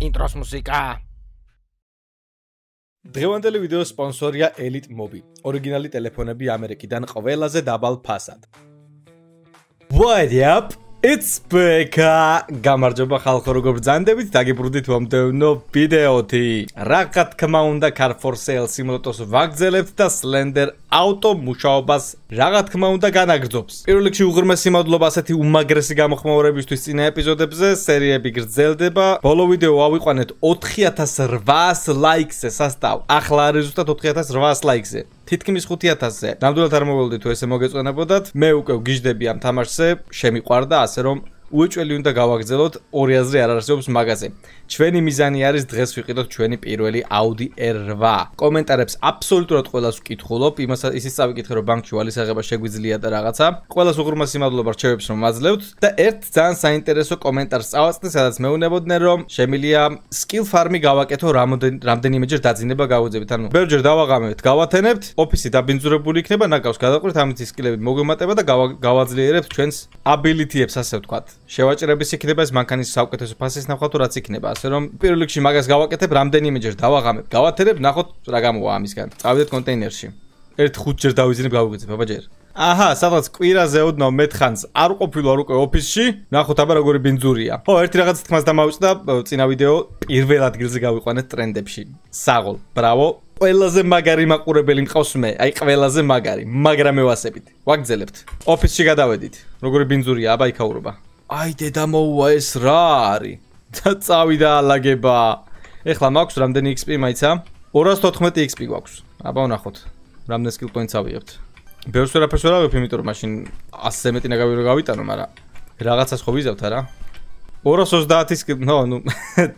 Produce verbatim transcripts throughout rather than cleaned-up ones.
ინტროს მუსიკა. დღევანდელი ვიდეოს სპონსორია Elite Mobi. ორიგინალი ტელეფონები ამერიკიდან ყველაზე დაბალ ფასად. What up? It's Beka. გამარჯობა ხალხო, როგორ ბრძანდებით? დაგიბრუნდით მომდევნო ვიდეოთი. რა თქმა უნდა, Car for Sale სიმროტოს ვაგრძელებთ და Slender Auto მუშაობას რა თქმა უნდა განაგრძობს. პირველ რიგში უღრმესი მადლობა ასეთი უმაგრესი გამოხმაურებისთვის წინა ეპიზოდებზე, სერიები გრძელდება. ბოლო ვიდეო ავიყვანეთ ოთხი ათას რვაას ლაიქზე სასტავ. ახლა არის ზუსტად ოთხი ათას რვაას ლაიქზე. თითქმის ხუთი ათასზე. ნამდვილად არ მოგველოდით თუ ესე მოგეწონებოდათ. მე უკვე ვგიჟდები ამ თამაშზე, შემიყვარდა, ასე რომ უეჭველი უნდა გავაგრძელოთ, ორი აზრი არ არსებობს მაგაზე. ჩვენი მიზანი არის დღეს ვიყიდოთ ჩვენი პირველი Audi R eight. კომენტარებს აბსოლუტურად ყველას ვკითხულობ, იმას ისიც წავიკითხე რომ ბანკში ვალის აღება შეგვიძლია და რაღაცა. ყველას უღრმესი მადლობა რჩევებს რომ მაძლევთ და ერთ ძალიან საინტერესო კომენტარს წავაწყდე, სადაც მეუბნებოდნენ რომ შემიძლია skill farm-ი გავაკეთო რამდენიმეჯერ დაძინება გავუძებით. ანუ ბევრჯერ დავაღამებთ, გავათენებთ, ოფისი დაბინძურებული იქნება, ნაკავს გადაყვეთ, ამით სკილები მოგვემატება და გავაძლიერებთ ჩვენს ability-ებს, ასე ვთქვათ. შევაჭრების იქნება ეს მანქანის საუკეთესო ფასის ნახავთ თუ რაც იქნება, ასე რომ პირველ რიგში მაგას გავაკეთებ, რამდენიმეჯერ დავაღამებ, გავათერებ, ნახოთ რა გამოვა ამისგან. წავიდეთ კონტეინერში. ერთ ხუთჯერ დავიზინებ, გავუგეძებ, აბა ჯერ. აჰა, სადღაც კვირაზე ოდნავ მეთხანს არ ყოფილა უკვე ოფისში, ნახოთ აბა როგორი ბინძურია. ხო, ერთი რაღაც თქმას დამავიწყდა წინა ვიდეო პირველ ადგილზე გავიყვანეთ ტრენდებში. საღოლ, ბრავო. ყველაზე მაგარი მაყურებელი მყავს მე, აი ყველაზე მაგარი, მაგრამ მევასებით. ვაგრძელებთ. ოფისში გადავედით. როგორი ბინძურია, აბა იქაურობა. აი დედა მოუვა ეს რა არის? და წავიდა ალაგება. ეხლა მაქვს რამდენი X P მაიცა? ორას თოთხმეტი X P გვაქვს. აბა ვნახოთ. რამდენი skill points ავიღებთ. ბევრს ვერაფერს ვერ ავიღებ, იმიტომ რომ მაშინ ასზე მეტი ნაგავი რო გავიტანო, მაგრამ რაღაცას ხო ვიზავთ არა? ორას ოცდაათი skill, ნო, ნუ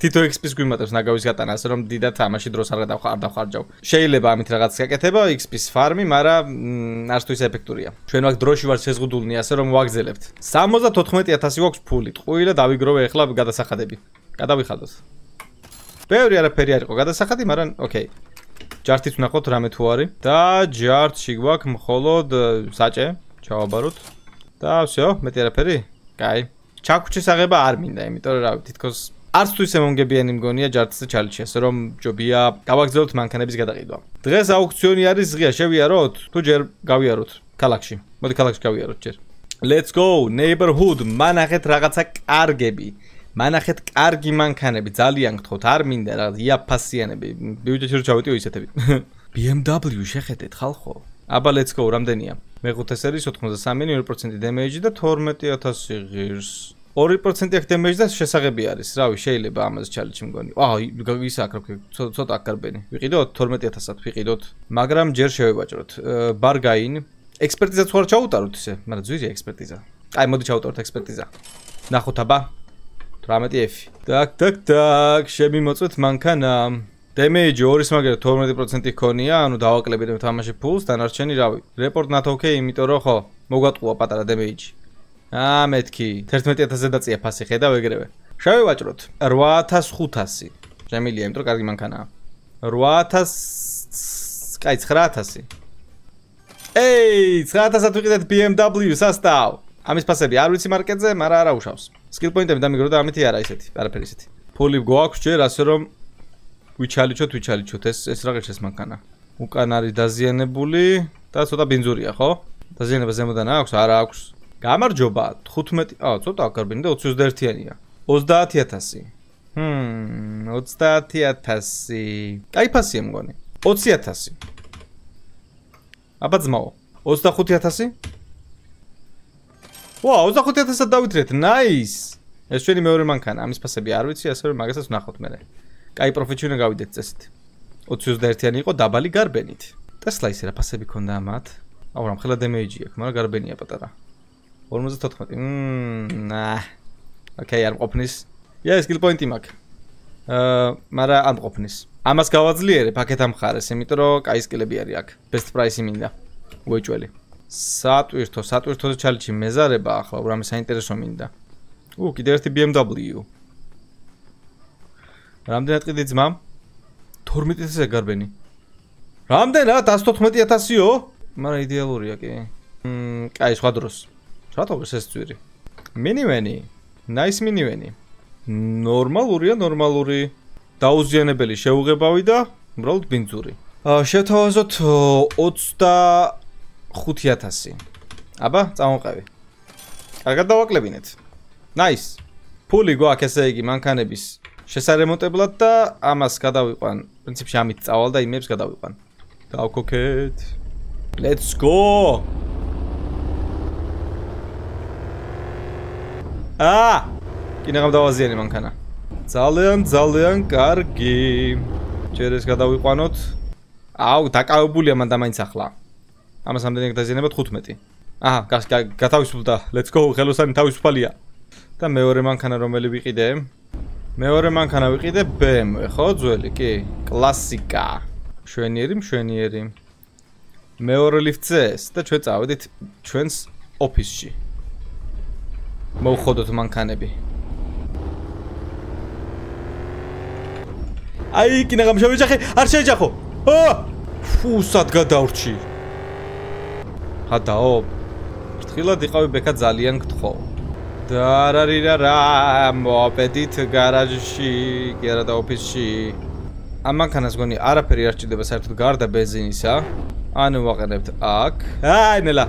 თითო X P-ს გვიმატებს ნაგავის გატანა, ასე რომ დიდად თამაში დროს არ დავხარჯავ. შეიძლება ამით რაღაც გაკეთება X P-ს ფარმი, მაგრამ არც თუ ის ეფექტურია. ჩვენ მაგ დროში ვარ შეზღუდულნი, ასე რომ ვაგრძელებთ. სამოცდათოთხმეტი ათასი გვაქვს ფული, ტყუი და დავიგროვე ახლა გადასახადები. გადავიხადოთ. ბევრი არაფერი არ იყო გადასახადი, მაგრამ ოკეი. ჯართიც ვნახოთ რამე თუ არის და ჯართში გვაქვს მხოლოდ საჭე, ჩავაბაროთ და всё, მეტი არაფერი? კაი. ჩაქუჩის აღება არ მინდა, იმიტომ რომ რავი, თითქოს არც თუ ისე მომგებიანი მგონია ჯართზე ჩალიჩი, ასე რომ ჯობია გავაგრძელოთ მანქანების გადაყიდვა. დღეს აუქციონი არის ღია, შევიაროთ? თუ ჯერ გავიაროთ ქალაქში. მოდი ქალაქში გავიაროთ ჯერ. Let's go, neighborhood, მანახეთ რაღაცა კარგები. მანახეთ კარგი მანქანები, ძალიან გთხოვთ, არ მინდა რაღაც იაფასიანები. ბიუჯეტი რო ჩავიტიო ისეთები. B M W შეხედეთ ხალხო. აბა let's go, რამდენია? მეხუთე სერიის ოთხმოცდასამი ორი პროცენტი damage და თორმეტი ათასი ღირს. ორი პროცენტი აქ damage და შესაღები არის. რავი, შეიძლება ამაზე ჩალიჩი მგონი. აა, ის აქ რა ცოტა აქ გარბენი. ვიყიდოთ თორმეტი ათასად, ვიყიდოთ, მაგრამ ჯერ შევევაჭროთ. ბარგაინ, ექსპერტიზა თუ არ ჩაუტაროთ ისე, მაგრამ ძვირი ექსპერტიზა. აი, მოდი ჩაუტაროთ ექსპერტიზა. ნახოთ აბა. თვრამეტი F. დაკ, დაკ, დაკ, შემიმოწვეთ მანქანა. Damage ორის მაგერად თორმეტი პროცენტი ქონია, ანუ დავაკლებით თამაში ფულს, დანარჩენი რავი. Report not okay, იმიტომ რომ ხო, მოგატყუა პატარა damage. აა მეთქი, თერთმეტი ათასზე დაწია ფასი, ხედავ ეგრევე. შევევაჭროთ. რვა ათას ხუთასი. შემილია, იმიტომ რომ კარგი მანქანაა. რვა ათას, კაი ცხრა ათასი. ეი, ცხრა ათასად ვიყიდეთ B M W სასტავ. ამის ფასები არ ვიცი მარკეტზე, მაგრამ არა უშავს. Skill point-ები დამიგრო და ამითი არა ისეთი, არაფერი ისეთი. ფული გვაქვს ჯერ, ასე რომ ვიჩალიჩოთ, ვიჩალიჩოთ, ეს ეს რა ღირს ეს მანქანა. უკან არის დაზიანებული და ცოტა ბინძურია, ხო? დაზიანება ზემოდან აქვს, არა აქვს. გამარჯობა, თხუთმეტი, აა, ცოტა აკარბენი და ოცი ოცდაერთიანია. ოცდაათი ათასი. ჰმ, ოცდაათი ათასი. კაი ფასია მგონი. ოცი ათასი. აბა ძმაო, ოცდახუთი ათასი? ვა, ოცდახუთი ათასად დავითრეთ, nice. ეს ჩვენი მეორე მანქანა, ამის ფასები არ ვიცი, ასე რომ მაგასაც ვნახოთ მერე. კაი პროფიტი უნდა გავიდეთ წესით. ოცი ოცდაერთიანი იყო დაბალი გარბენით. Tesla ისე რა ფასები ქონდა ამათ? აუ რა მხოლოდ damage აქვს, მაგრამ გარბენია პატარა. ორმოცდათოთხმეტი. მმ, ნაჰ. ოკეი, არ მყოფნის. ია, skill point-ი მაქვს. აა, მაგრამ არ მყოფნის. ამას გავაძლიერებ აქეთ ამ ხარეს, იმიტომ რომ კაი სკილები არის აქ. Best price-ი მინდა. უეჭველი. სატვირთო, სატვირთოზე ჩალიჩი მეზარება ახლა, რამე საინტერესო მინდა. უ, კიდევ ერთი B M W. რამდენად ყიდი ძმა? თორმეტი ათასი გარბენი. რამდენად? ათას თოთხმეტი ათასიო? მაგრამ იდეალურია კი. მმ, კაი, სხვა დროს. რატო ეს ძვირი? მინივენი. Nice მინივენი. ნორმალურია, ნორმალური. დაუზიანებელი შეუღებავი და უბრალოდ ბინძური. შევთავაზოთ ოცდახუთი ათასი. აბა, წამოვყევი. კარგად დავაკლებინეთ. Nice. ფული გვაქვს ესე იგი მანქანების შესარემონტებლად და ამას გადავიყვან. პრინციპში ამით წავალ და იმებს გადავიყვან. დავქოქეთ. Let's go. აა! კინაღამ დავაზიანე მანქანა. ძალიან ძალიან კარგი. ჯერ ეს გადავიყვანოთ. აუ, დაკავებულია მან და მაინც ახლა. ამას ამდენი დაზიანებად ხუთმეტი. აჰა, გათავისუფლდა. Let's go, ხელოსანი თავისუფალია. და მეორე მანქანა რომელი ვიყიდე? მეორე მანქანა ვიყიდე B M W, ხო, ძველი, კი, კლასიკა. მშვენიერი, მშვენიერი. მეორე ლიფტზე ეს და ჩვენ წავედით ჩვენს ოფისში. მოვხოდოთ მანქანები. აი, კინაღამ შევეჯახე, არ შეეჯახო. აა! ფუ, სად გადავრჩი. ჰადაო. ფრთხილად იყავი ბექა ძალიან გთხოვ. და არ არის რა, მოპედით გარაჟში, კი არა და ოფისში. ამ მანქანას გონი არაფერი არ ჭირდება საერთოდ გარდა ბენზინისა. ანუ ვაყენებთ აქ. აი, ნელა.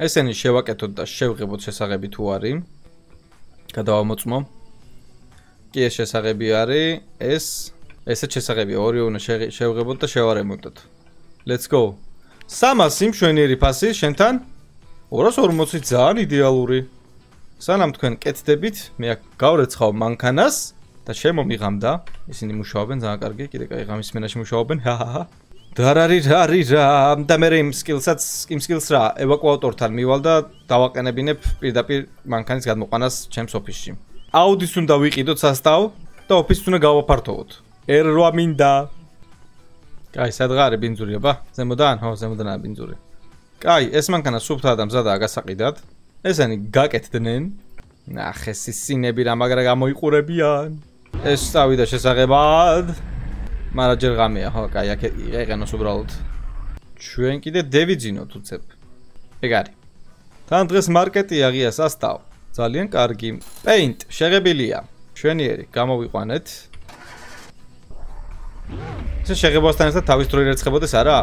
ესენი შევაკეთოთ და შევღებოთ შესაღები თუ არის. გადავამოწმო. კი ეს შესაღები არის, ეს ესეც შესაღებია, ორი უნდა შევღებოთ და შევარემონტოთ. Let's go. სამასი მშვენიერი ფასი შენთან? ორას ორმოცი ძალიან იდეალური. სანამ თქვენ კეთდებით, მე აქ გავრეცხავ მანქანას და შემომიღამდა. ისინი მუშაობენ ძალიან კარგი, კიდე კაი ღამის სმენაში მუშაობენ. ჰაჰაჰა. და რა არის რა არის რა და მე იმ სკილსაც იმ სკილს რა ევაკუატორთან მივალ და დავაყენებინებ პირდაპირ მანქანის გადმოყვანას ჩემს ოფისში. აუდის უნდა ვიყიდოთ სასტავ და ოფისს უნდა გავაფართოვოთ. R eight მინდა. კაი, სადღარი ბინძურია ბა? ზემოდან? ხო, ზემოდანაა ბინძური. კაი, ეს მანქანა სუფთაა და მზადაა გასაყიდად. ესენი გაკეთდნენ. ნახე სინები რა მაგრა გამოიყურებიან. ეს წავიდა შესაღებად. მაგრამ ჯერ ღამეა, ხო, კაი, აქ ეყენოს უბრალოდ. ჩვენ კიდე დევიძინოთ უცებ. ეგ არის. თან დღეს მარკეტი აღია სასტავ. ძალიან კარგი. Paint შეღებილია. მშვენიერი, გამოვიყვანეთ. ეს შეღებასთან ერთად თავის დრო ირეცხებოდეს არა?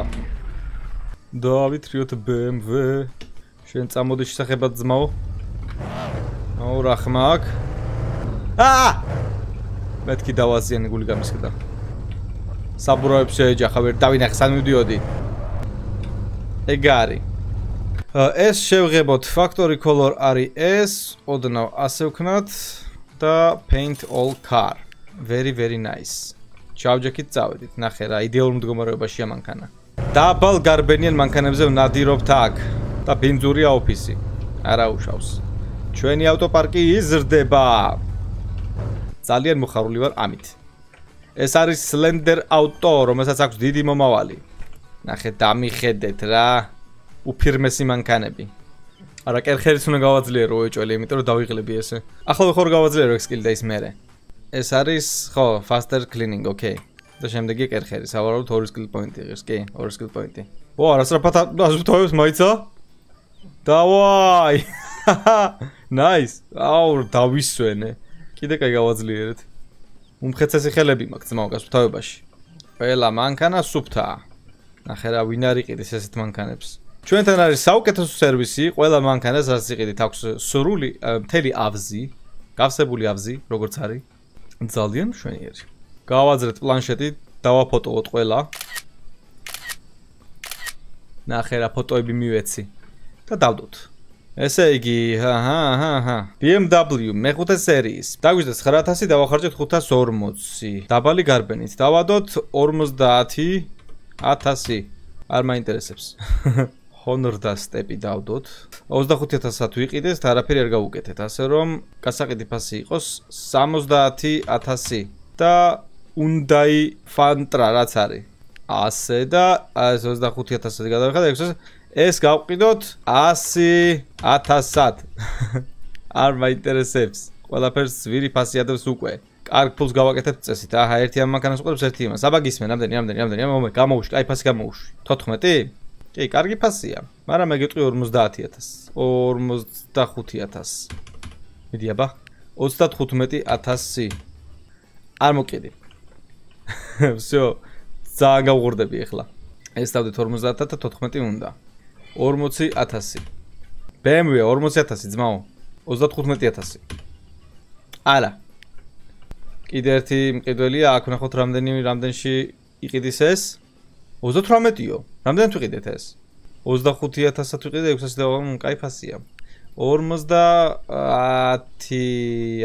დავითრიოთ B M W. შენ წამოდი შესახებად ძმაო. აუ რა ხმა აქ? აა! მეთქი დავაზიანე გული გამისკდა. საბურავებს შეეჯახა ვერ დავინახე სანამ მივდიოდი. ეგ არის. ეს შევღებოთ factory color არის ეს, ოდნავ ასე ვქნათ და paint all car. Very very nice. ჩავჯექით წავედით. ნახე რა იდეალურ მდგომარეობაშია მანქანა. დაბალ გარბენიან მანქანებზე ვნადირობთ აქ და ბინძურია ოფისი. არა უშავს. ჩვენი ავტოპარკი იზრდება. ძალიან მოხარული ვარ ამით. ეს არის Slender Auto, რომელსაც აქვს დიდი მომავალი. ნახე, დამიხედეთ რა. უფირმესი მანქანები. არა, კერხერიც უნდა გავაძლიერო ეჭველი, იმიტომ რომ დავიღლები ესე. ახლა ხარ გავაძლიერო ეს სკილი და ის მერე. ეს არის, ხო, faster cleaning, okay. და შემდეგი კერხერი, სავარაუდოდ ორი სკილ პოინტი ღირს, კი, ორი სკილ პოინტი. ო, არასწრაფად აზრთოვებს მაიცა? დავაი. Nice. აუ, დავისვენე. კიდე კაი გავაძლიერეთ. უმხეცესი ხელები მაქვს ძმაო გასუფთავებაში. ყველა მანქანა სუფთაა. ნახე რა ვინ არ იყიდეს ესეთ მანქანებს. ჩვენთან არის საუკეთესო სერვისი, ყველა მანქანას რაც იყიდით აქვს სრული მთელი ავზი, გავსებული ავზი, როგორც არის. ძალიან მშვენიერი. გავაძრეთ პლანშეტი, დავაფოტოოთ ყველა. ნახე რა ფოტოები მივეცი და დავდოთ. ესე იგი, აჰა, აჰა. B M W მეხუთე სერიის. დაგვიждეთ ცხრა ათასი, დავახარჯეთ ხუთას ორმოცი. დაბალი გარბენით. დავადოთ ორმოცდაათი ათასი. არ მაინტერესებს. Honor და სტეპი დავდოთ. ოცდახუთი ათასად ვიყიდეს და არაფერი არ გავუკეთეთ, ასე რომ გასაყიდი ფასი იყოს სამოცდაათი ათასი და Hyundai Fantra რაც არის. ასე და ეს ოცდახუთი ათასად გადავიხადე, ეს გავყიდოთ ასი ათასად. არ მაინტერესებს. ყველაფერს ვირი ფასი ადევს უკვე. კარგ ფულს გავაკეთებთ წესით. აჰა, ერთი ამ მანქანას უყურებს, ერთი იმას. აბა გისმენ, ამდენი, ამდენი, ამდენი, მომე, გამოვუშვი, აი ფასი გამოვუშვი. თოთხმეტი? კი, კარგი ფასია. მაგრამ მე გეტყვი ორმოცდაათი ათასი. ორმოცდახუთი ათასი. მიდი აბა. ოცდათხუთმეტი ათასი. არ მოკიდი. всё. ძალიან გავღურდები ახლა. ეს დავდეთ ორმოცდაათ და თოთხმეტი უნდა. ორმოცი ათასი. ბე ემ ვე ორმოცი ათასი ძმაო. ოცდათხუთმეტი ათასი. არა. კიდე ერთი მყიდველია, აქ ვნახოთ რამდენი რამდენში იყიდის ეს? ოცდათვრამეტიო. რამდენად ვიყიდეთ ეს? ოცდახუთი ათასად ვიყიდე, ექვსასი და კაი ფასია. ორმოცდაათი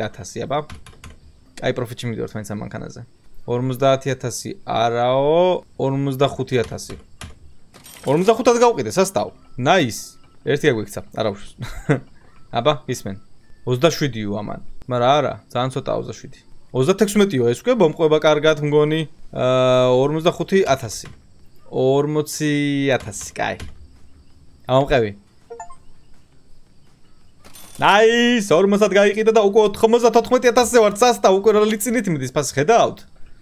ათასი აბა. კაი პროფიტში მივიდევართ მაინც ამ მანქანაზე. ორმოცდაათი ათასი არაო, ორმოცდახუთი ათასი. ორმოცდახუთად გავყიდე, სასტავ. ნაის. ერთი აგვიქცა, არა უშავს. აბა, ისმენ. ოცდაშვიდიო ამან. მაგრამ არა, ძალიან ცოტაა ოცდაშვიდი. ოცდათექვსმეტიო ეს უკვე მომყვება კარგად მგონი. აა ორმოცდახუთი ათასი. ორმოცი ათასი, კაი. ამომყევი. ნაის, ორმოცად გაიყიდა და უკვე ოთხმოცდათოთხმეტი ათასზე ვარ, სასტავ, უკვე რა ლიცინით მიდის, ფასი ხედავთ?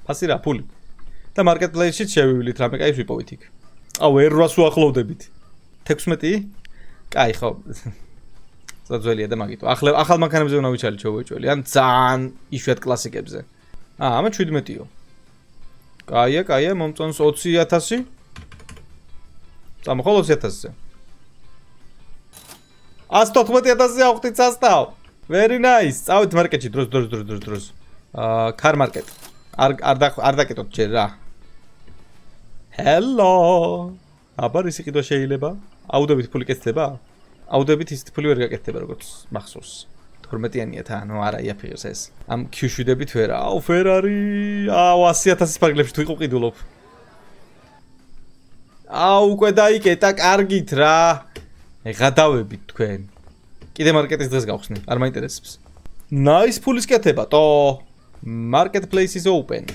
ფასი რა, ფული. და მარკეტ პლეისში შევივლით, რამე კაი ვიპოვით იქ. აუ, ერვას უახლოვდებით. თექვსმეტი? კაი, ხო. ძველია და მაგითო. ახლა ახალ მანქანებზე უნდა ვიჩალით შევეჭველი, ან ძალიან იშვიათ კლასიკებზე. აა, ამან შვიდმეტიო. კაია, კაია, მომწონს ოცი ათასი. წამოხვალ ოცი ათასზე. ათს თოთხმეტი ათასზე ავხდით სასტავ. Very nice. წავით მარკეტში დროს დროს დროს დროს დროს. აა, კარ მარკეტ. არ არ დაკეტოთ ჯერ რა. Hello. აბა ისი კიდე შეიძლება? აუდებით ფული კეთდება? აუდებით ის ფული ვერ გაკეთდება როგორც მახსოვს. თორმეტიანია თან, ნუ არა იაფიღებს ეს. ამ Q-შვიდებით ვერა. აუ Ferrari. აუ ასი ათასის პარკლებში თუ იყო ყიდულობ. აუ უკვე დაიკეტა კარგით რა. ეხადავებით თქვენ. კიდე მარკეტის დღეს გავხსნი, არ მაინტერესებს. Nice ფულის კეთება, ტო. Marketplace is open.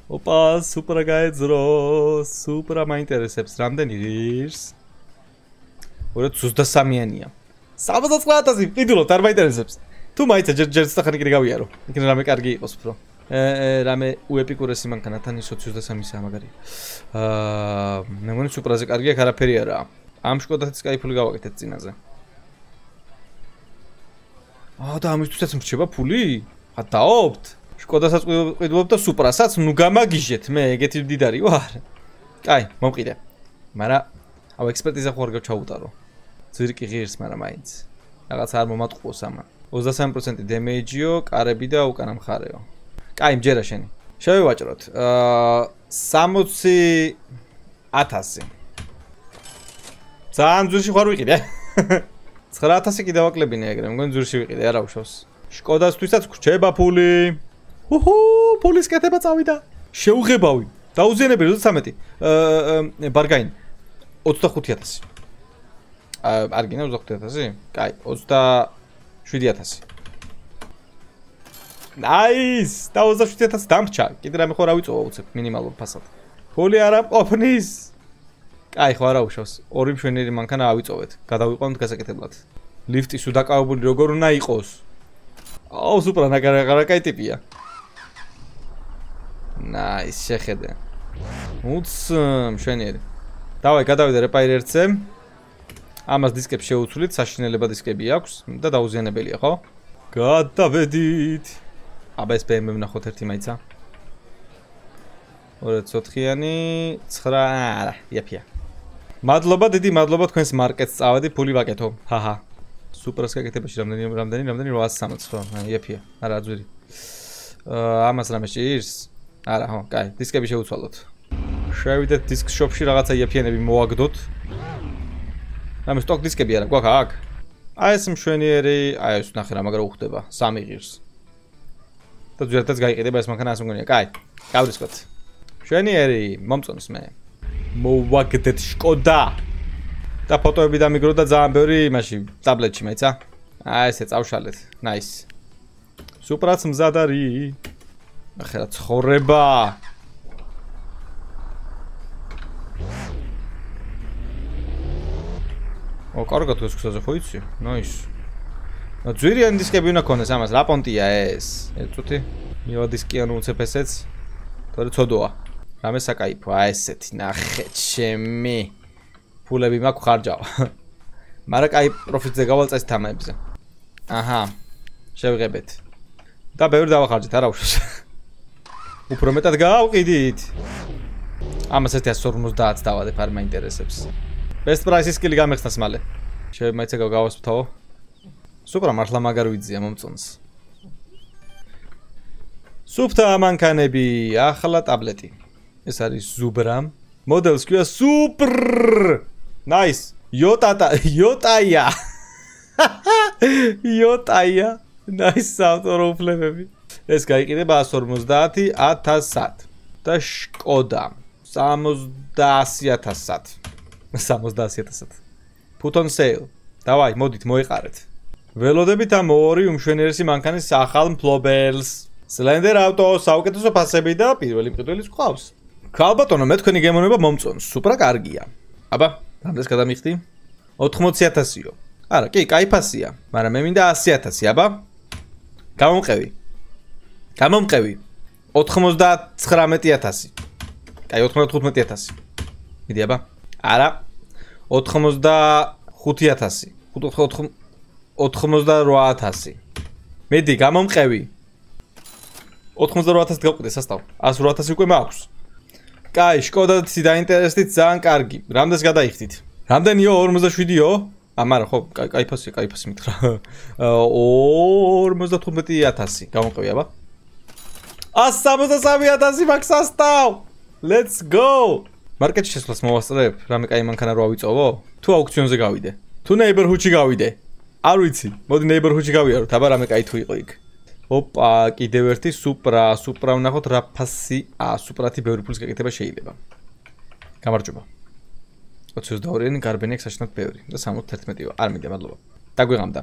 ოპა, სუპრა გაეძრო, სუპრა მაინტერესებს, რამდენი ღირს? ორად ოცდასამიანია. სამოცდაოთხ ათასი, ყიდულობთ, არ მაინტერესებს. თუ მაიცა ჯერ ჯერ სტახანი კიდე გავიარო. იქნება რამე კარგი იყოს უფრო. ე რამე უეპიკურესი მანქანა თან ის ოცდასამისაა მაგარი. აა, მე მგონი სუპრაზე კარგია, არაფერი არაა. ამ შკოდათიც კაი ფული გავაკეთეთ წინაზე. აა და ამისთვისაც მრჩება ფული? ატაობთ? შკოდასაც ყიდულობ და სუპრასაც ნუ გამაგიჟეთ, მე ეგეთი მდიდარი ვარ. კაი, მომყიდე. მაგრამ აუ ექსპერტიზა ხო არ გავჩაუტარო. ძვირკი ღირს, მაგრამ მაინც. რაღაც არ მომატყუოს ამან. ოცდასამი პროცენტი დემეიჯიო, კარები და უკანა მხარეო. კაი, მჯერა შენი. შევივაჭროთ. აა სამოცი ათასი. ძალიან ძვირში ხარ ვიყიდე. ცხრა ათასი კიდე ვაკლებინე ეგრე, მგონი ძვირში ვიყიდე, არა უშავს. შკოდასთვისაც გრჩება ფული. უჰუ, ფულის კეთება წავიდა. შეუღებავი. დაუზიანებელი ოცდათვრამეტი. აა ბარგაინ. ოცდახუთი ათასი. აა არ გინდა ოცდახუთი ათასი? კაი, ოცდაშვიდი ათასი. ნაის! და ოცდაშვიდი ათასი დამრჩა. კიდე რამე ხო რა ვიწოვა უცებ მინიმალურ ფასად. ფული არ ამყოფნის. კაი, ხო არა უშავს. ორი მშვენიერი მანქანა ავიწოვეთ. გადავიყვანოთ გასაკეთებლად. ლიფტი სულ დაკავებული როგორ უნდა იყოს? აუ, სუპრა ნაგარა კაი ტიპია. ნაის, შეხედე. უც მშვენიერი. დავაი, გადავიდე რეპაირერცე. ამას დისკებს შეუცვლით, საშინელება დისკები აქვს და დაუზიანებელია, ხო? გადავედით. აბა ეს ბე ემ ვე ვნახოთ ერთი მაიცა. ორაც ოთხიანი, ცხრა, არა, იაფია. მადლობა, დიდი მადლობა თქვენს მარკეტს წავედი, ფული ვაკეთო. ჰაჰა. სუპრას გაკეთებაში რამდენი რამდენი რამდენი რვაასი სამოცი ხო? იაფია. არა, ძვირი. აა ამას რამე ჭირს? არა, ხო, კაი, დისკები შევუცვალოთ. შევიდეთ დისკ შოპში რაღაცა იაფიანები მოვაგდოთ. რამე სტოკ დისკები არა, გვაქვს აქ. აი ეს მშვენიერი, აი ეს ნახე რა მაგრა უხდება, სამი ღირს. და ძვირადაც გაიყიდება ეს მანქანა, ასე მგონია. კაი, გავრისკოთ. მშვენიერი, მომწონს მე. მოვაგდეთ შკოდა. და ფოტოები დამიგრო და ძალიან ბევრი იმაში, ტაბლეტში მეცა. აი ესე წავშალეთ. ნაის. სუპრაც მზად არის. ნახე რა ცხოვრება. ო, კარგად გასხსაზე ხო იცი? ნაის. ნუ ძვირიანი დისკები უნდა ქონდეს ამას, რა პონტია ეს? ეწუთი. მივა დისკიანი უცებ ესეც. თორე ცოდოა. რამე საკაიფო, აი ესეთი ნახე ჩემი. ფულები მაქვს ხარჯავ. მაგრამ კაი პროფიტზე გავალწეს თამებზე. აჰა. შევიღებეთ. და ბევრი დავახარჯეთ, არა უშავს. უფრო მეტად გავყიდით. ამას ერთი ათას ორმოცდაათს დავადებ, არ მაინტერესებს. Best price-ის კილი გამეხსნას მალე. შევიმაიცე გავასვთო. სუპრა მართლა მაგარ ვიძია მომწონს. სუფთა მანქანები, ახლა ტაბლეტი. ეს არის ზუბრა. მოდელს ქვია სუპრ. Nice. Yotata, Yotaya. Yotaya. Nice ავტორო უფლებები. ეს გაიყიდება ათას ორმოცდაათი ათასად. და შკოდა სამოცდაასი ათასად. სამოცდაასი ათასად. Put on sale. დავაი, მოდით მოეყარეთ. ველოდებით ამ ორი უმშვენიერესი მანქანის ახალ მფლობელს. Slender Auto საუკეთესო ფასები და პირველი მყიდველიც გვყავს. ქალბატონო, მე თქვენი გემოვნება მომწონს. სუპრა კარგია. აბა, რამდენს გადამიხდი? ოთხმოცი ათასიო. არა, კი, კაი ფასია, მაგრამ მე მინდა ასი ათასი, აბა. გამომყევი. გამომყევი. ოთხმოცდათხრამეტი ათასი. კაი, ოთხმოცდათხუთმეტი ათასი. მიდი, აბა. არა. ოთხმოცდახუთი ათასი. ოთხმოცდარვა ათასი. მიდი, გამომყევი. ოთხმოცდარვა ათასი გავყიდე სასტავ. ას რვა ათასი უკვე მაქვს. კაი, შკოდათი დაინტერესდით ძალიან კარგი. რამდენს გადაიხდით? რამდენიო? ორმოცდაშვიდიო? ამარა ხო, კაი ფასია, კაი ფასი მითხრა. ორმოცდათხუთმეტი ათასი. გამომყევი, აბა. ას სამოცდასამი ათასი მაქვს სასტავ. Let's go. მარკეტში შესვლას მოვასწრებ, რამე კაი მანქანა რო ავიწოვო? თუ აუქციონზე გავიდე? თუ neighborhood-ში გავიდე? არ ვიცი. მოდი neighborhood-ში გავიაროთ, აბა რამე კაი თუ იყო იქ. ოპა, კიდევ ერთი სუპრა, სუპრა ვნახოთ რა ფასი. აა, სუპრათი ბევრი ფულის გაკეთება შეიძლება. გამარჯობა. ოცი ოცდაორიანი გარბენი აქვს საშინად ბევრი და სამოცდაერთმეტიო. არ მინდა, მადლობა. დაგვიღამდა.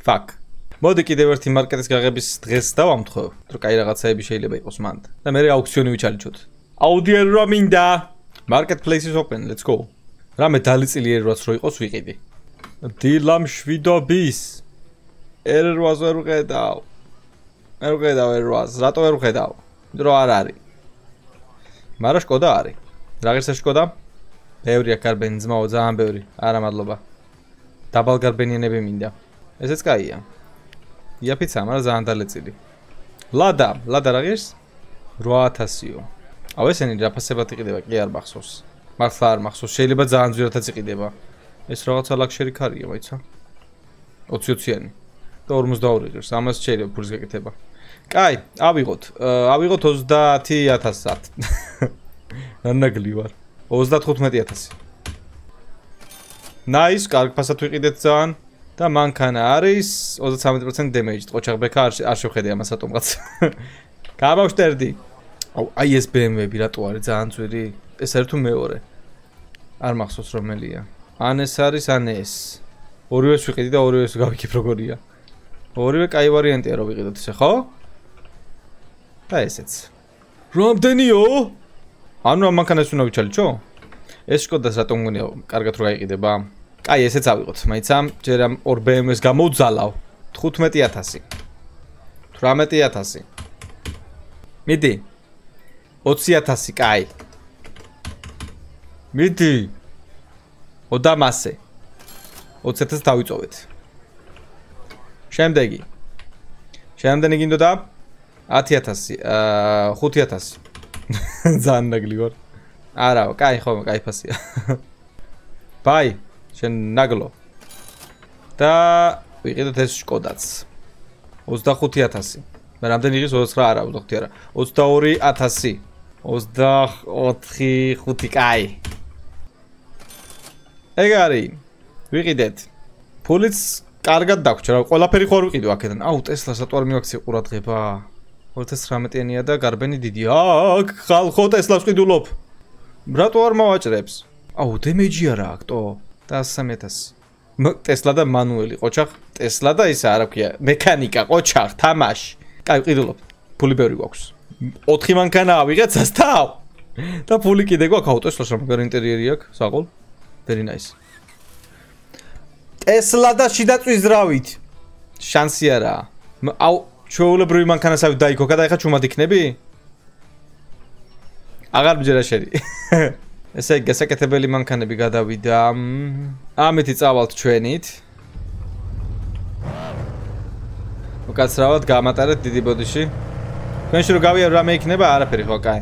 Fuck. მოდი კიდევ ერთი მარკეტის გაღების დღეს დავამთხოვ, რომ კაი რაღაცაები შეიძლება იყოს მანდ. და მე აუქციონი ვიჩალიჩოთ. აუდიერ რა მინდა? Marketplace is open. Let's go. რამე დალიწილი ერვაც რო იყოს ვიყიდი. დილა მშვიდობის. ერვას ვერ ვხედავ. ვერ ვხედავ ერვას. რატო ვერ ვხედავ? დრო არ არის. მაგრამ შკოდა არის. რა ღირსა შკოდა? ბევრია გარბენი ძმაო, ძალიან ბევრი. არა მადლობა. დაბალგარბენიანები მინდა. ესეც კაია. იაფიცა, მაგრამ ძალიან დალეწილი. ლადა, ლადა რა ღირს? რვა ათასიო. აუ ესენი რა ფასებად იყიდება, კი არ მახსოვს. მართლა არ მახსოვს, შეიძლება ძალიან ძვირადაც იყიდება. ეს რაღაცა ლაქშერი ქარია, მაიცა. ოცი ოციანი. და ორმოცდაორი ღირს, ამას შეიძლება ფულის გაკეთება. კაი, ავიღოთ. ავიღოთ ოცდაათი ათასად. ანაგლი ვარ. ოცდათხუთმეტი ათასი. Nice, კარგ ფასად ვიყიდეთ ძალიან და მანქანა არის ოცდათვრამეტი პროცენტი damage. ყოჩაღბექა არ შევხედე ამას ატომღაც. გამავშტერდი. აუ, აი ეს B M W-ები რატო არის ძალიან ძვირი? ეს არის თუ მეორე? არ მახსოვს რომელია. ან ეს არის, ან ეს. ორივეს ვიყიდი და ორივეს გავიქებ როგორია. ორივე კაი ვარიანტია რომ ვიყიდოთ ესე, ხო? და ესეც. რამდენიო? ანუ ამ მანქანას უნდა ვიჩალიჩო? ეს შკოდას რატომ მგონია კარგად რო გაიყიდება? კაი, ესეც ავიღოთ. მაიცა, ჯერ ამ ორ B M W-ს გამოვძალავ. თხუთმეტი ათასი. თვრამეტი ათასი. მიდი. ოცი ათასი, კაი. მიდი. ოდამასე. ოცი ათასი დავიწოვეთ. შემდეგი. შემდეგი გინდოდა ათი ათასი, აა ხუთი ათასი. ძალიან ნაგლი ვარ. არაო, კაი ხო, კაი ფასია. ბაი, შენ ნაგლო. და ვიყიდოთ ეს შკოდაც. ოცდახუთი ათასი. მე რამდენი იღის ოცდაოთხი არა, ოცდაოთხი არა. ოცდაორი ათასი. ოცდაოთხი ხუთი, კაი. ეგ არის. ვიყიდეთ. ფულიც კარგად დაგვრჩა, რა, ყველაფერი ხო არ ვიყიდო აქედან. აუ, ტესლას რატო არ მივაქცია ყურადღება? ორი ათას ცხრამეტიანია და გარბენი დიდია. აქ ხალხო ტესლას ვყიდულობ. რატო არ მოვაჭრებს? აუ, დემეიჯი არა აქტო. და სამი ათასი. ტესლა და მანუელი, ყოჩახ, ტესლა და ისა არა ქვია, მექანიკა, ყოჩახ, თამაში. კაი, ვყიდულობ. ფული ბევრი გვაქვს. ოთხი მანქანა ავიღეთ სასტავ. და ფული კიდე გვაქვს, აუ, ტესლას რა მაგარი ინტერიერი აქვს, საყოლ. Very nice. ტესლა და შიდა წვიზრავით. შანსი არაა. აუ, ჩვეულებრივი მანქანასავით დაიქოქა და ეხა ჩუმად იქნები? აღარ მჯერა შერი. ესე იგი, გასაკეთებელი მანქანები გადავიდა. ამითი წავალთ ჩვენით. უკაცრავად გამატარეთ დიდი ბოდიში. თქვენში რო გავიარ რამე იქნება, არაფერი ხო, კაი.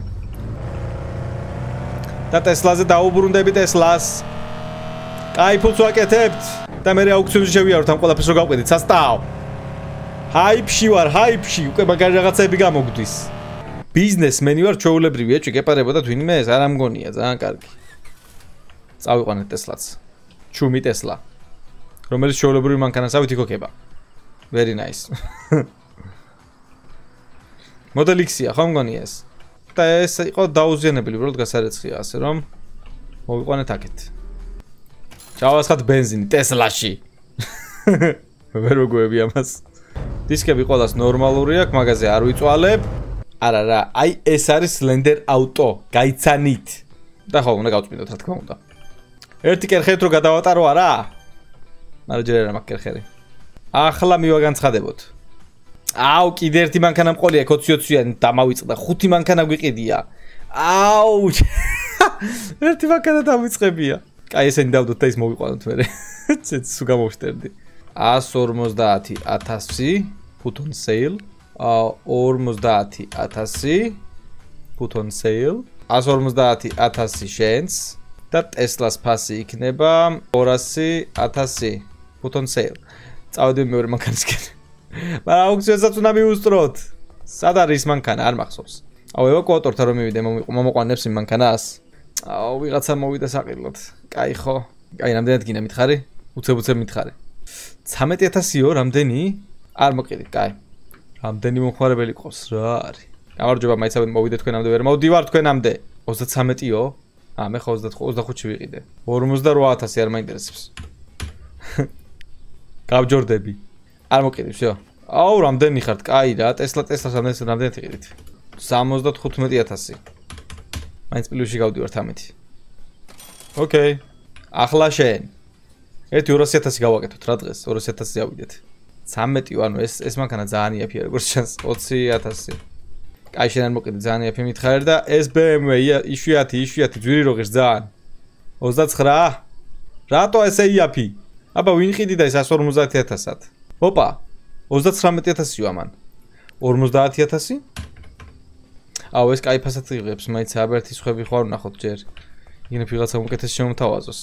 და ტესლაზე დაუბრუნდები ტესლას. კაი ფულს ვაკეთებთ და მე აუქციონში შევიაროთ ამ ყველაფერს რო გავყიდით, სასტავ. ჰაიპში ვარ, ჰაიპში, უკვე მაგარი რაღაცები გამოგდის. ბიზნესმენი ვარ, ჩვეულებრივი ეჭვი გეპარებოდა თვინმე ეს არ ამგონია, ძალიან კარგი. წავიყვანეთ ტესლაც. ჩუმი ტესლა. რომელიც ჩვეულებრივი მანქანასავით იქოქება. Very nice. Model X-ია, ხო მგონია ეს? და ეს იყო დაუზიანებელი, უბრალოდ გასარეცხია, ასე რომ მოვიყვანეთ აქეთ. ჩავასხათ ბენზინი ტესლაში. ვერ მოგუები ამას. დისკები ყველას ნორმალური აქვს, მაგაზე არ ვიწვალებ. არა რა, აი ეს არის Slender Auto, გაიცანით. და ხო, უნდა გავწმინდოთ, რა თქმა უნდა. ერთი კერხეთ რო გადავატარო არა? მაგრამ ჯერ არ მაქვს კერხერი. ახლა მივაგანცხადებოთ. აუ, კიდე ერთი მანქანა მყოლია, ოცი-ოციანი დამავიწყდა, ხუთი მანქანა გვიყიდია. აუ! ერთი მანქანა დამიწყებია. კაი, ესენი დავდოთ და ის მოვიყვანოთ მერე. ცეც სულ გამოვშტერდი. εκατს ორმოცდაათი ათასი put on sale. ორმოცდაათი ათასი put on sale. εκατს ორმოცდაათი ათასი შენს და ტესლას ფასი იქნება ორასი ათასი put on sale. წავედები მეორე მანქანისკენ. მაგრამ აუქციონსაც უნდა მივუსწროთ. სად არის ის მანქანა? არ მახსოვს. აუ, ევაკუატორთან რომ მივიდე, მომოყვანებს იმ მანქანას. აუ, ვიღაცა მოვიდა საყიდლად. კაი ხო? კაი, რამდენად გინდა მითხარი? უცებ-უცებ მითხარი. ცამეტი ათასიო, რამდენი? არ მოყიდით, კაი. რამდენი მომხმარებელი ყავს, რა არის? გამარჯობა, მაიცავენ მოვიდე თქვენამდე ვერ მოვდივარ თქვენამდე. ოცდაცამეტიო? აა, მე ხო ოცდახუთში ვიყიდე. ორმოცდაოთხ ათასი არ მაინტერესებს. გავჯორდები. არ მოკიდებს, იო. აუ, რამდენი ხართ? კაი რა, ტესლა ტესლას რამდენი რამდენად იყიდით? სამოცდათხუთმეტი ათასი. მაინც პლუსში გავდივართ ამეთი. ოკეი. ახლა შენ. ერთი ორასი ათასი გავაკეთოთ რა დღეს, ორასი ათასი ავიდეთ. ცამეტი, ანუ ეს ეს მანქანა ძალიან იაფია, როგორც ჩანს, ოცი ათასი. კაი, შენ არ მოკიდე, ძალიან იაფი მითხარ და ეს ბე ემ ვე იშვიათი, იშვიათი ძვირი რო ღირს ძალიან. ოცდაცხრა? რატო ესე იაფი? აბა ვინ ყიდი და ეს εκατს ორმოცდაათი ათასად? ოპა, ოცდაცხრამეტი ათასიო ამან. ორმოცდაათი ათასი? აუ, ეს კაი ფასად იღებს, მაინც აბერტის ხვები ხო არ ვნახოთ ჯერ. იგივე ვიღაცა უკეთეს შემოთავაზოს.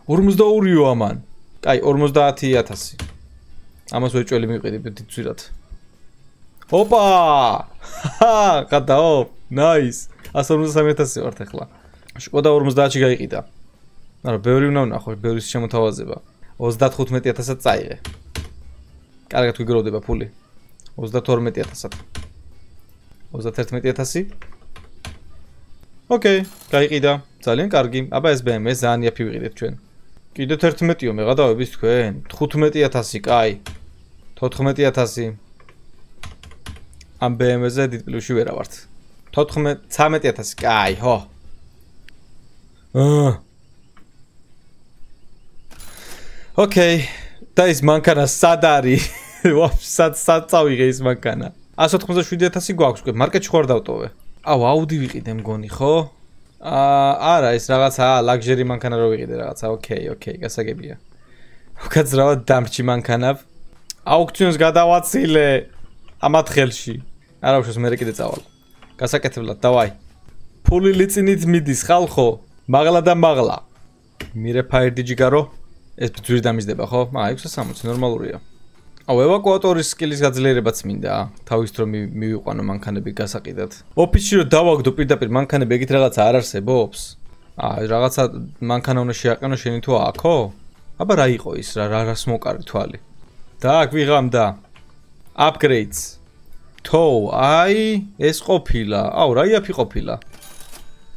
ორმოცდაორიო ამან. კაი, ორმოცდაათი ათასი. ამას ვეჭველი მივყიდი დიდი ძვირად. ოპა! ჰა, გადაო, ნაის. εκατს ორმოცდასამი ათასი ვართ ახლა. შკოდა ორმოცდაათში გაიყიდა. მაგრამ ბევრი უნდა ვნახო, ბევრის შემოთავაზება. ოცდათხუთმეტი ათასად წაიღე. კარგად ვიგროვდება ფული. ოცდათორმეტი ათასად. ოცდაათერთმეტი ათასი. ოკეი, გაიყიდა. ძალიან კარგი. აბა ეს ბე ემ ვე ძალიან იაფი ვიყიდეთ ჩვენ. კიდევ თერთმეტიო მე გადავების თქვენ. თხუთმეტი ათასი, კაი. თოთხმეტი ათასი. ამ ბე ემ ვეზე დიდ პლუსში ვერა ვართ. თოთხმეტი ცამეტი ათასი, კაი, ხო. აა ოკეი, და ის მანქანა სად არის? ვაფშე სად წავიღე ის მანქანა? εκατს ოთხმოცდაშვიდი ათასი გვაქვს, უკვე მარკეტში ხო არ დავტოვე? აუ, აუდი ვიყიდე მგონი, ხო? აა, არა, ეს რაღაცა ლაგჟერი მანქანა რო ვიყიდე რაღაცა. ოკეი, ოკეი, გასაგებია. უკაცრავად დამრჩი მანქანა. აუქციონს გადავაცილე ამათ ხელში. არა უშავს მე კიდე წავალ. გასაკეთებლად, დავაი. ფული ლიწინით მიდის ხალხო, მაღლა და მაღლა. მირე ფაირდი ჯიგარო. ეს ძვირი დამიზდება, ხო? აა, ექვსი სამოცი ნორმალურია. აუ, ევაკუატორის სკილის გაძლიერებაც მინდა. თავის დრო მივიყვანო მანქანები გასაყიდად. ოფისში რო დავაგდო პირდაპირ მანქანები ეგეთ რაღაცა არ არსებობს? აა, რაღაცა მანქანა უნდა შეაყენო შენი თუ აქო? აბა რა იყო ის? რა რას მოკარი თვალი? და გვიღამდა. Upgrades. თო, აი, ეს ყოფილა. აუ, რა იაფი ყოფილა.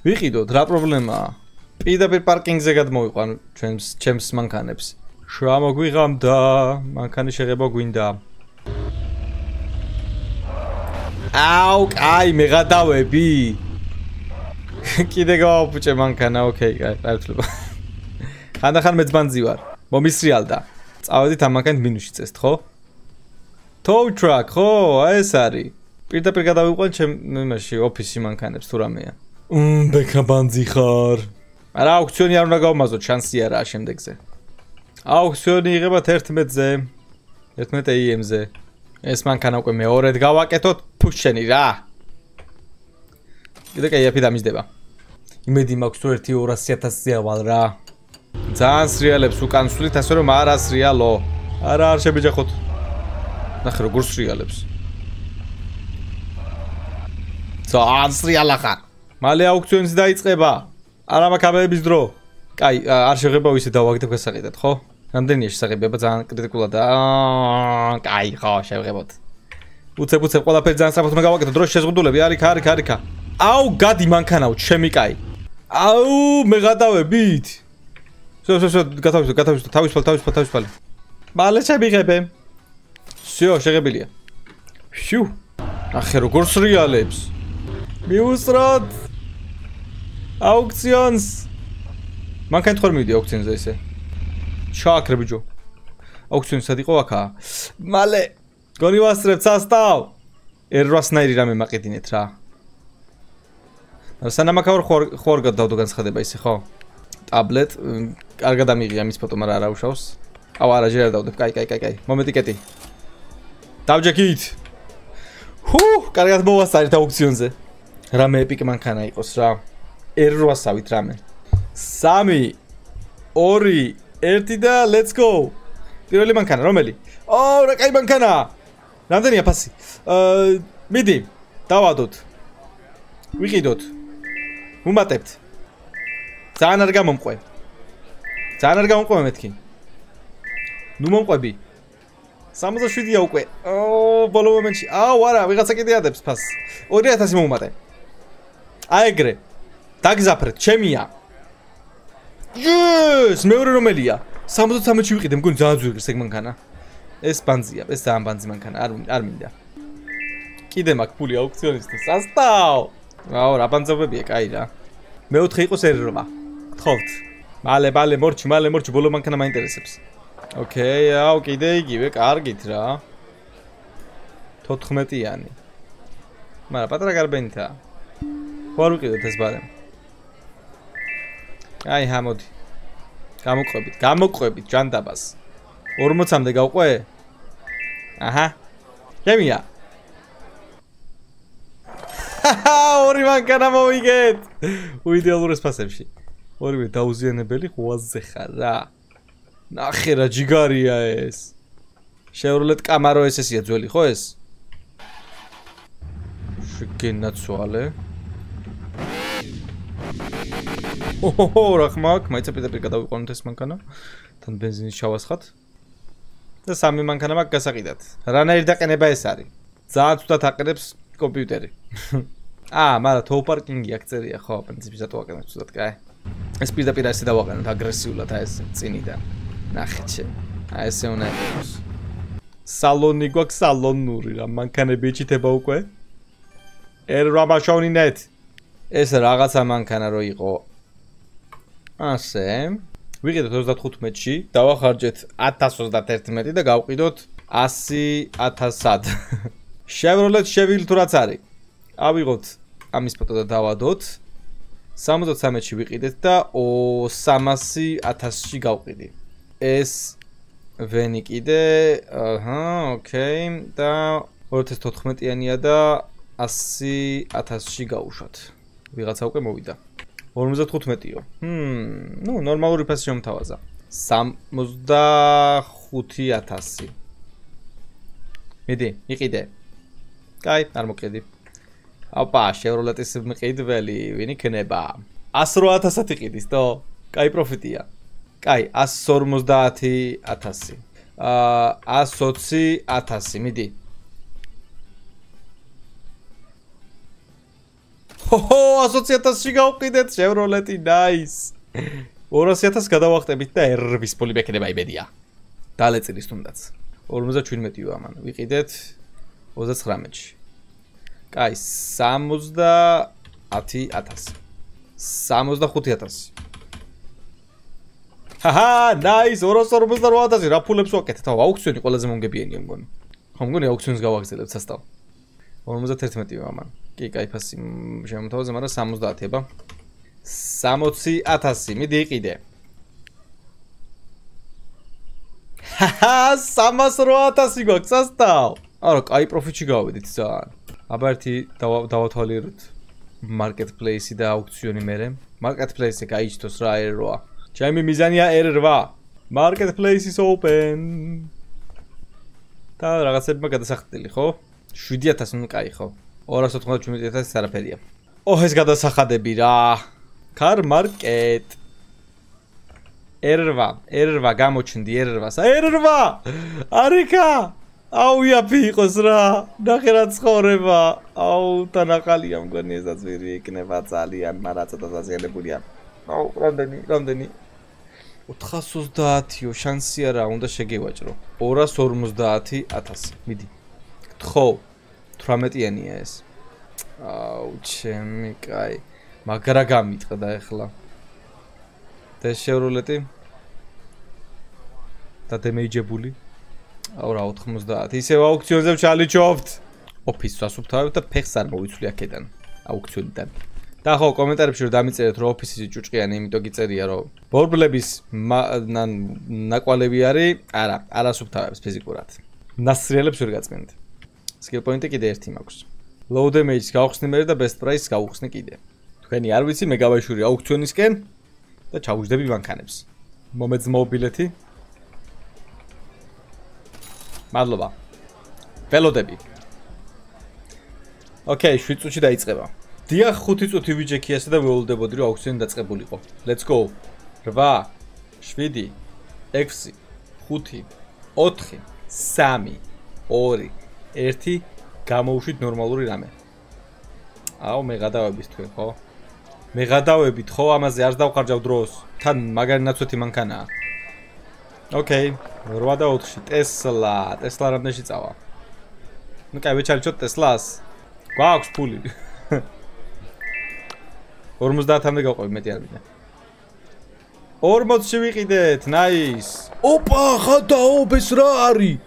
ვიყიდოთ, რა პრობლემაა? პირდაპირ პარკინგზე გადმოვიყვან ჩვენს ჩემს მანქანებს. შემოგვიღამდა, მანქანის შეღება გვინდა. აუ, აი, მე გადავები. კიდე გავაფუჭე მანქანა, ოკეი, გაერთლება. ხანდახან მეც ბანძი ვარ. მომისრიალდა. წავედით ამ მანქანით მინუსში წესთ, ხო? Tow truck, ხო, ეს არის. პირდაპირ გადავიყვან ჩემ იმაში ოფისში მანქანებს თუ რამეა. მმ, ბექა ბანძი ხარ. არა, აუქციონი არ უნდა გავმაზოთ, შანსი არაა შემდეგზე. აუქციონი იღება თერთმეტზე. თერთმეტ ეი ემ-ზე. ეს მანქანა უკვე მეორედ გავაკეთოთ, ფუშჩენი რა. კიდე კაიფი დამიზდება. იმედი მაქვს თუ ერთი ორასი ათასი ავალ რა. ძალიან სრიალებს უკან ვსვლით, ასე რომ არ ასრიალო. არა არ შებეჯახოთ. ნახე როგორ სრიალებს. ძალიან სრიალა ხარ. მალე აუქციონი დაიწყება. არა მაქვს ამების დრო. კაი, არ შეღება ვისე დავაგდებ გასაყიდად, ხო? რამდენია შესაძლებლობა ძალიან კრიტიკულად. კაი, ხო, შევღებოთ. უცებ უცებ ყველაფერი ძალიან სწრაფად მოგავაკეთო. დროშის შეზღუდულები, არიქა, არიქა, არიქა. აუ, გადი მანქანაო, ჩემი კაი. აუ, მე გადავებით. სო, სო, სო, გათავისო, გათავისო, თავისუფალ, თავისუფალ, თავისუფალ. მალე შემიღებე. всё, შეღებილია. შუ. ახე როგორ სრიალებს. მიუსროთ. აუქციონს. მანქანა თქო მივიდი აუქციონზე ესე. ჩააქრე ბიჭო. აუქციონი სად იყო აქა? მალე. გონი ვასწრებ სასტავ. ер восьмნაირი რამე მაყიდინეთ რა. სანამ აქ ხوار ხوار გადავდო განცხადება ისე ხო? ტაბლეტ კარგად ამიღია მის ფოტო, მაგრამ არა უშავს. აუ არა, ჯერ არ დავდებ. კაი, კაი, კაი, კაი. მომენტი კეტი. დავჯექით. ჰუ, კარგად მოვასწარეთ აუქციონზე. რამე ეპიკ მანქანა იყოს რა. ер восьмავით რამე. სამი, ორი, ერთი და let's go. პირველი მანქანა რომელი? ოუ, რა კაი მანქანა. რამდენია ფასი? აა, მიდი, დავადოთ. ვიყიდოთ. ვუმატებთ. ძალიან არ გამომყვე. ძალიან არ გამომყვე მეთქი. ნუ მომყვები. სამოცდაშვიდია უკვე. ოუ, ბოლო მომენტში. აუ, არა, ვიღაცა კიდე ადებს ფასს. ორი ათასი მომუმატე. აეგრე. დაგზაფრეთ, ჩემია. Yes, მეორე რომელია? სამოცდათრამეტში ვიყიდე, მგონი ძალიან ძვირს ეგ მანქანა. ეს ბანძია, ეს ძალიან ბანძი მანქანა, არ არ მინდა. კიდე მაქვს ფული აუქციონისთვის. სასტავ. აუ, რა ბანძობებია, კაი რა. მეოთხე იყოს ер восемь. გთხოვთ. მალე, მალე, მორჩი, მალე, მორჩი, ბოლო მანქანა მაინტერესებს. ოკეი, აუ, კიდე იგივე, კარგით რა. თოთხმეტიანი. მაგრამ პატარა გარბენითაა. ხوار ვიყიდოთ ეს ბარემ. აი, ჰამოდი. გამოყვებით, გამოყვებით ჯანდაბას. ორმოცამდე გავყვე? აჰა. ჩემია. ორი მანქანა მოვიგეთ. უიდეალურეს ფასებში. ორივე დაუზიანებელი ღვაზზე ხარ რა. ნახე რა ჯიგარია ეს. Chevrolet Camaro ეს ესია ძველი, ხო ეს? შეგენაცვალე. ოჰო, რა ხმაკ, მაიცა პიტერ გადავიყვანოთ ეს მანქანა. თან ბენზინის ჩავასხათ. და სამი მანქანა მაქვს გასაყიდად. რანაირი დაყენება ეს არის? ძალიან ცუდად აყენებს კომპიუტერი. აა, მაგრამ თოუ პარკინგი აქ წერია, ხო, პრინციპი ზატო აყენებს ცუდად, კაი. ეს პირდაპირ ასე დავაყენოთ აგრესიულად აი ეს წინიდან. ნახეთ შენ. აი ესე უნდა იყოს. სალონი გვაქვს სალონური რა, მანქანები ეჩითება უკვე. ер რამაშოვნინეთ. ეს რაღაცა მანქანა რო იყო. ასე. ვიყიდოთ ოცდათხუთმეტში, დავახარჯეთ ათას ოცდაათმეტი და გავყიდოთ ასი ათასად. Chevrolet Chevy თუ რაც არის. ავიღოთ ამის ფოტო და დავადოთ. სამოცდათრამეტში ვიყიდეთ და სამასი ათასში გავყიდი. ეს ვენი კიდე, აჰა, ოკეი და ორი ათას თოთხმეტიანია და ასი ათასში გავუშვათ. ვიღაცა უკვე მოვიდა. ორმოცდათხუთმეტიო. ჰმ, ნუ ნორმალური ფასი შემთავაზა. სამოცდახუთი ათასი. მიდი, იყიდე. კაი, არ მოკედი. ოპა, Chevrolet-ის მყიდველი, ვინ იქნება? ასი რვა ათასად იყიდის, თო? კაი პროფიტია. კაი, ასი ორმოცდაათი ათასი. აა, ასი ოცი ათასი, მიდი. ჰოჰო, ასი ოცი ათასში გავყიდეთ Chevrolet-ი, nice. ორასი ათასს გადავახტებით და ერვის ფული მექნება იმედია. დალეწილის თუნდაც. ორმოცდაჩვიდმეტიო ამან. ვიყიდეთ ოცდაცხრამეტში. კაი, სამოცდაათი ათასი. სამოცდახუთი ათასი. ჰაჰა, nice, ორას ორმოცდარვა ათასი. რა ფულებს ვაკეთეთ? აუ, აუქციონი ყველაზე მომგებიანია მგონი. ხო, მგონი აუქციონს გავაგრძელებთ სასტავ. ორმოცდათერთმეტიო ამან. კი, კაი ფასი შემოთავაზე, მაგრამ სამოცდაათი აბა. სამოცი ათასი, მიდი იყიდე. ჰაჰა, სამას რვა ათასი გვაქვს სასტავ. არა, კაი პროფიტში გავედით ძალიან. აბა ერთი დავათვალიეროთ marketplace-ი და აუქციონი მერე. Marketplace-ზე გაიჩნდოს რა R eight. ჩემი მიზანია R eight. Marketplace is open. და რაღაცებმა გადასახდილი, ხო? შვიდი ათასი ნუ კაი, ხო? ორას ოთხმოცდაშვიდი ათასი არაფერია. ოჰ, ეს გადასახადები რა. Car market. R eight, R eight გამოჩნდი R eight-ს. R eight! არიქა! აუ, იაფი იყოს რა. ნახე რა ცხოვრება. აუ, თანახალია მგონი ესაც ვირი იქნება ძალიან, მაგრამ ცოტა დაზიანებულია. აუ, რამდენი, რამდენი? ოთხას ოცდაათიო, შანსი არა, უნდა შეგევაჭრო. ორას ორმოცდაათი ათასი. მიდი. გთხოვ. თვრამეტიანია ეს. აუ, ჩემი კაი. მაგრა გამიტყდა ეხლა. და შეურულეტი. და დემეიჯებული. აუ რა ოთხმოცდაათი. ისევ აუქციონზე ჩალიჩობთ. ოფისს ვასუფთავებ და ფეხს არ მოვიცვლი აქედან. აუქციონიდან. და ხო, კომენტარებში რომ დამიწერეთ რომ ოფისი ჭუჭყიანი, იმიტომ გიწერია რომ ბორბლების ნაკვალევი არის, არა, არასუფთავებს ფიზიკურად. ნასრიელებს ვერ გაწმენდ. Skill point-ი კიდე ერთი მაქვს. Low damage-ს გავხსნი მე და best price-ს გავხსნი კიდე. თქვენი არ ვიცი, მე გავაშვირი აუქციონისკენ და ჩავუჯდები მანქანებს. მომეძმო ბილეთი. მადლობა. ველოდები. ოკეი, შვიდ წუთში დაიწყება. დიახ, ხუთი წუთი ვიჯექიასა და ველოდებოდი რომ აუქციონი დაწყებულიყო. Let's go. რვა, შვიდი, ექვსი, ხუთი, ოთხი, სამი, ორი, ერთი, გამოვუშვით ნორმალური რამე. აუ, მე გადავებით თქვენ, ხო? მე გადავებით, ხო, ამაზე არ დავხარჯავ დროს. თან მაგარი ნაცვეთი მანქანაა. ოკეი, რვა და ოთხში, ტესლა, ტესლა რამდენში წავა? ნუ კაი, ვეჩალიჩოთ ტესლას. გვაქვს ფული. ორმოცდაათამდე გავყვები, მეტი არ მინდა. ორმოცში ვიყიდეთ, nice. ოპა, ხადაობ, ეს რა არის?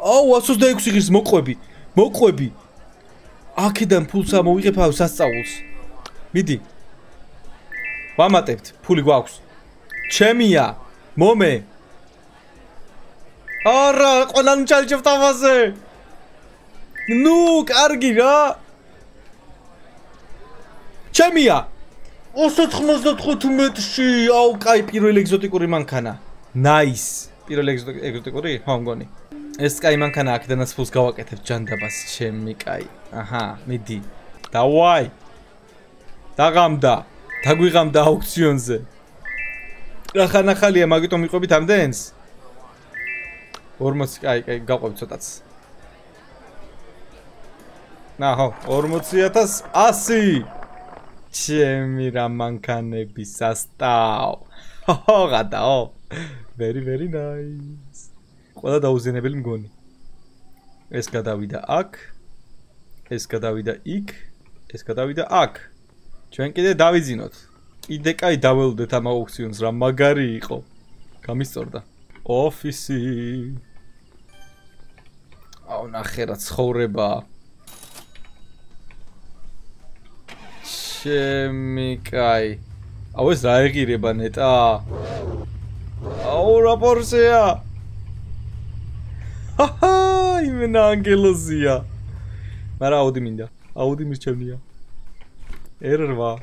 აუ, ათს ოცდაექვსი ღირს მოყვები. მოყვები. აქედან ფულს ამოვიღებ აუ სასწაულს. მიდი. ვამატებთ, ფული გვაქვს. ჩემია. მომე. არა, ყველანი ჩალიჩებთ ამაზე. ნუ, კარგი რა. ჩემია. ოცდათხმოცდათხუთმეტში, აუ, კაი, პირველი ეგზოტიკური მანქანა. Nice. პირველი ეგზოტიკური? ხო, მგონი. ეს კაი მანქანა აქედანაც ფულს გავაკეთებ ჯანდაბას, ჩემი კაი. აჰა, მიდი. დავაი. დაღამდა. დაგვიღამდა აუქციონზე. რახანახალია, მაგიტომ მიყვებით ამდენს? ორმოცი, კაი, კაი, გავყვებით ცოტაც. ნაჰო, ორმოცი ათას ასი. ჩემი რა მანქანები სასტავ. ჰო, გადაო. Very very nice. ყველა დაუზენებელი მგონი. ეს გადავიდა აქ. ეს გადავიდა იქ. ეს გადავიდა აქ. ჩვენ კიდე დავიძინოთ. კიდე კაი დაველოდეთ ამ აუქციონს რა მაგარი იყო. გამისწორდა. ოფისი. აუ ნახე რა ცხოვრება. ჩემი კაი. აუ ეს რა ეგირება ნეტა. აუ რა პორშეა. ჰაჰა, იმენა ანგელოზია. მაგრამ აუდი მინდა. აუდი მირჩევნია. R eight.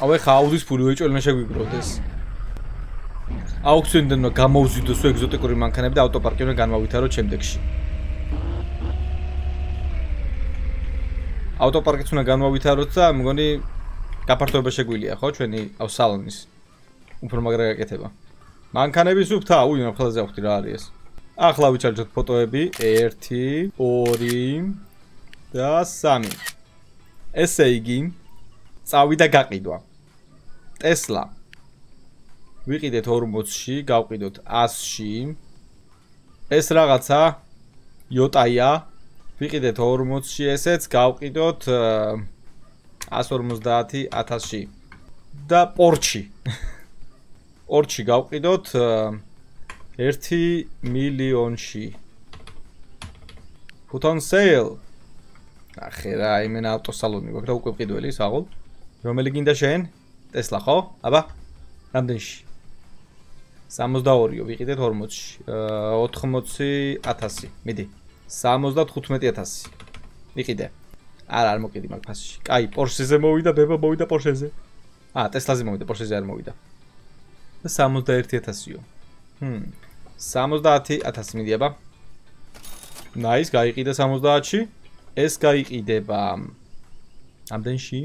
აუ ეხა აუდის ფული ვეჭველმა შეგვიგროვდეს. აუქციონიდან უნდა გამოვზიდოს ეგზოტიკური მანქანები და ავტოპარკი უნდა განმავითაროთ შემდეგში. ავტოპარკიც უნდა განმავითაროთ და მგონი გაფართოება შეგვიძლია, ხო, ჩვენი აუ სალონის. უფრო მაგრა გაკეთება. მანქანები სუფთა, უი, ნაფხალზე ავხდი რა არის ეს. ახლა ვიჩარჯოთ ფოტოები ერთი, ორი და სამი. ესე იგი, წავიდა გაყიდვა. ტესლა. ვიყიდეთ ორმოცში, გავყიდოთ ასში. ეს რაღაცა იოტაია. ვიყიდეთ ორმოცში ესეც, გავყიდოთ ათს ორმოცდაათი ათასში. და პორჩი. ორჩი გავყიდოთ ერთი მილიონში. Put on sale. ახე რა, იმენა ავტოსალონი გვაქვს და უკვე ვყიდველი საღოლ. რომელი გინდა შენ? ტესლა ხო? აბა. რამდენში? სამოცდაორიო ვიყიდეთ ორმოცში. ოთხმოცი ათასი. მიდი. სამოცდათხუთმეტი ათასი. იყიდე. არა, არ მოკიდი მაგ ფასში. კაი, Porsche-ზე მოვიდა, ბება მოვიდა Porsche-ზე. აა, Tesla-ზე მოვიდა, Porsche-ზე არ მოვიდა. და სამოცდაერთი ათასიო. ჰმ. სამოცდაათი ათასი მიდიება. ნაის, გაიყიდა სამოცდაათში. ეს გაიყიდება ამდენში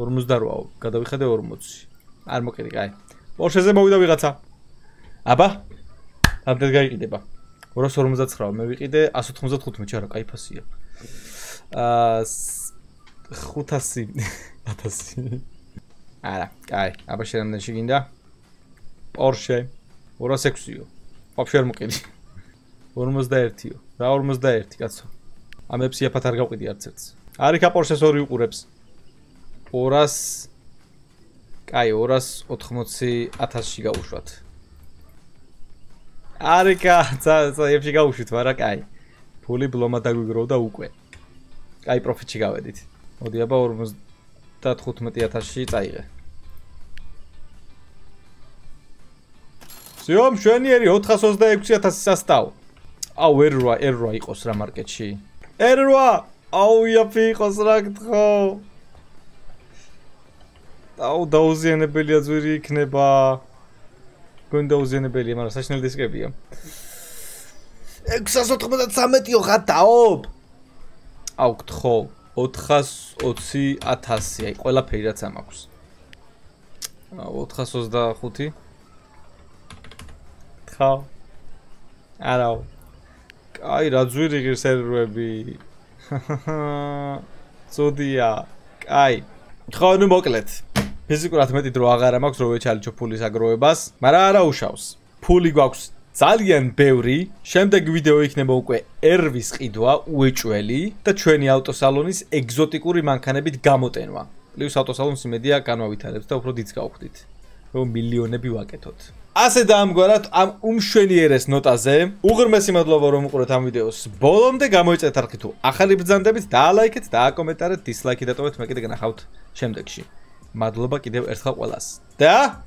ორმოცდაოთხ-აო, გადავიხადე ორმოცი. არ მოკიდი, კაი. Porsche-ზე მოვიდა ვიღაცა. აბა. ამდენ გაიყიდება. ორას ორმოცდაცხრა მე ვიყიდე ასი ოთხმოცდათხუთმეტი, არა, კაი ფასია. აა ხუთასი ათასი. არა, კაი, აბა შენამდენში გინდა. Porsche ორას ექვსიო. ვაფშე არ მოკიდი. ორმოცდაერთიო. რა ორმოცდაერთი, კაცო. ამებს იაფად არ გავყიდი არც ერთს. არიქა Porsche-ს ორი უყურებს. ორას კაი, ორას ოთხმოცი ათასში გავუშვათ. არიქა, წაებში გავუშვით, მაგრამ კაი. ფული ბლომა დაგვიგროვდა უკვე. კაი, პროფიტში გავედით. მოდი აბა ორმოცდათხუთმეტი ათასში წაიღე. სიო, მშვენიერი ოთხას ოცდაექვსი ათასი სასტავ. აუ, ერ რვა, ერ რვა იყოს რა მარკეტში. ერ რვა! აუ, იაფი იყოს რა გთხოვ. აუ, დაუზიანებელია ძვირი იქნება. გონ დაუზიანებელია, მაგრამ საშინელი დისკებია. ექვსას ოთხმოცდათრამეტიო ხატაობ. აუ, გთხოვ. ოთხას ოცი ათასი, აი, ყველაფერი რაც ამაქვს. აუ, ოთხას ოცდახუთი. ხა. არაო. კაი, რა ძვირი ღირს სერვერები. წოდია. კაი. ხო, ნუ მოკლედ. ფიზიკურად მეტი დრო აღარ მაქვს რო ვეჩალიჩო ფულის აგროვებას, მაგრამ არა უშავს. ფული გვაქვს ძალიან ბევრი. შემდეგი ვიდეო იქნება უკვე ერვის ყიდვა, უეჭველი და ჩვენი ავტოსალონის ეგზოტიკური მანქანებით გამოტენვა. პლუს ავტოსალონს იმედია განავითარებს და უფრო დიდს გავხდით. რომ მილიონები ვაკეთოთ. ასე დაამგვარად ამ უმშვენიერეს ნოტაზე უღრმესი მადლობა რომ უყურეთ ამ ვიდეოს ბოლომდე გამოიწვიეთ არხი თუ ახალი ბრძანდებით დაალაიქეთ და აკომენტარეთ დისლაიკი დატოვეთ მე კიდე გნახავთ შემდეგში მადლობა კიდევ ერთხელ ყველას და